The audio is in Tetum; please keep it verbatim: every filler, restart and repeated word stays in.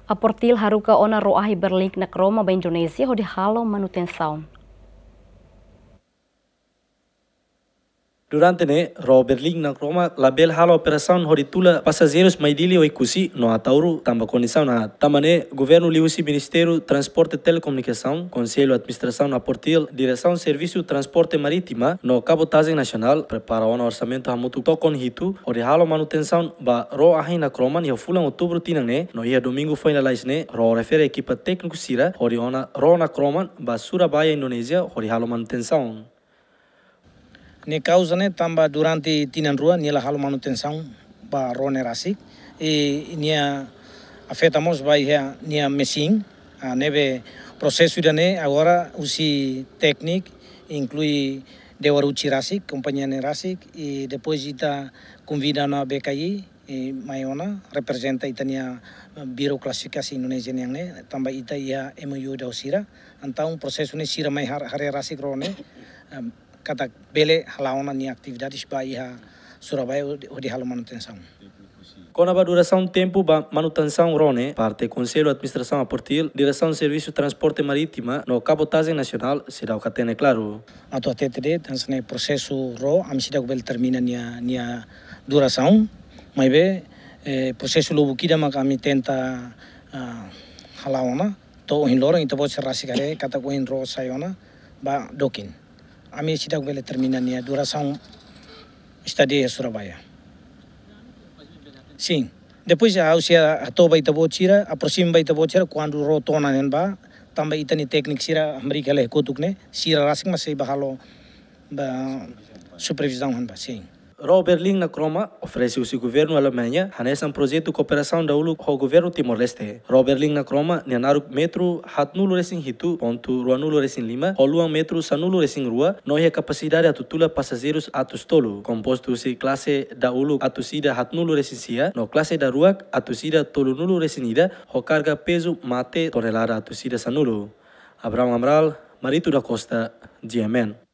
APORTIL haruka ona ró ahi Berlin na Kroma ba Indonézia hodi halo manutensaun. Durante ne'e, ró Berlin na Kroma labele halo operasaun hodi tula pasajeirus mai Dili Oekusi no Ataúru tanba kondisaun aat. Tanba ne'e, governu liuhusi Ministériu Transporte Telekomunikasaun, Konsellu Administrasaun APORTIL, Diresaun Servisu Transporte Marítima no Kabotajen Nasionál prepara ona orsamentu hamutuk tokon hitu hodi halo manutensaun ba ró ahi na Kroma iha fulan Outubru tinan ne'e, no iha domingu foin lalais ne'e, ró refere ekipa tékniku sira hodi ona ró na Kroma ba Surabaya, Indonézia, hodi halo manutensaun. Ne'e kauza ne'e tanba durante tinan rua nia la halo manutensaun ba ró ne'e rasik. I nia afeta mós ba iha nia mesin. Ah, ne'ebé prosesu ida-ne'e agora husi tékniku, inklui Dewa Ruchi rasik, kompañia ne'e rasik, i depois ita konvida ona B K I, i mai ona reprezenta ita-nia, eh, Biro Klasifikasi Indonézia nian ne'e, tanba ita iha M O U ida ho sira. Entaun prosesu ne'e sira mai har-, haree rasik ró ne'e, em, katak bele hala'o ona nia atividades ba iha Surabaya hodi, hodi halo manutensaun. Kona-ba durasaun tempu ba manutensaun ró ne'e, parte Konsellu Administrasaun APORTIL, Diresaun Servisu Transporte Marítima no Kabotajen Nasionál, seidauk hatene klaru. Atu hatete de'it, hanesan ne'e prosesu ró, ami seidauk bele termina nia, nia durasaun, maibé, eh, prosesu lubuk ida maka ami tenta, ah, hala'o ona, to'o ohin loron ita-boot sira rasik haree katak ohin ró sai ona ba Dokin. Ami seidauk bele termina nia durasaun estadia iha Surabaya. Sin. Depois ha'u sei hato'o ba ita-boot sira, aproxima ba ita-boot sira, kuandu ró to'o ona ne'ebá, tanba ita-nia tékniku sira hamriik hela iha kotuk ne'e, sira rasik mak sei bá halo ba supervizaun iha ne'ebá, sin. Ró Berlin na Kroma oferese husi governu Alemaña, hanesan projetu kooperasaun dahuluk ho governu Timor-Leste. Ró Berlin na Kroma nia naruk metru haatnulu-resin-hitu pontu ruanulu-resin-lima, ho luan metru sanulu-resin-rua, no iha kapasidade atu tula pasajeirus atus tolu, kompostu husi klase dahuluk atus ida haatnulu-resin-sia, no klase daruak atus ida tolunulu-resin-ida, ho karga pezu mate tonelada atus ida sanulu. Abraham Amaral, Marito da Costa, G M N.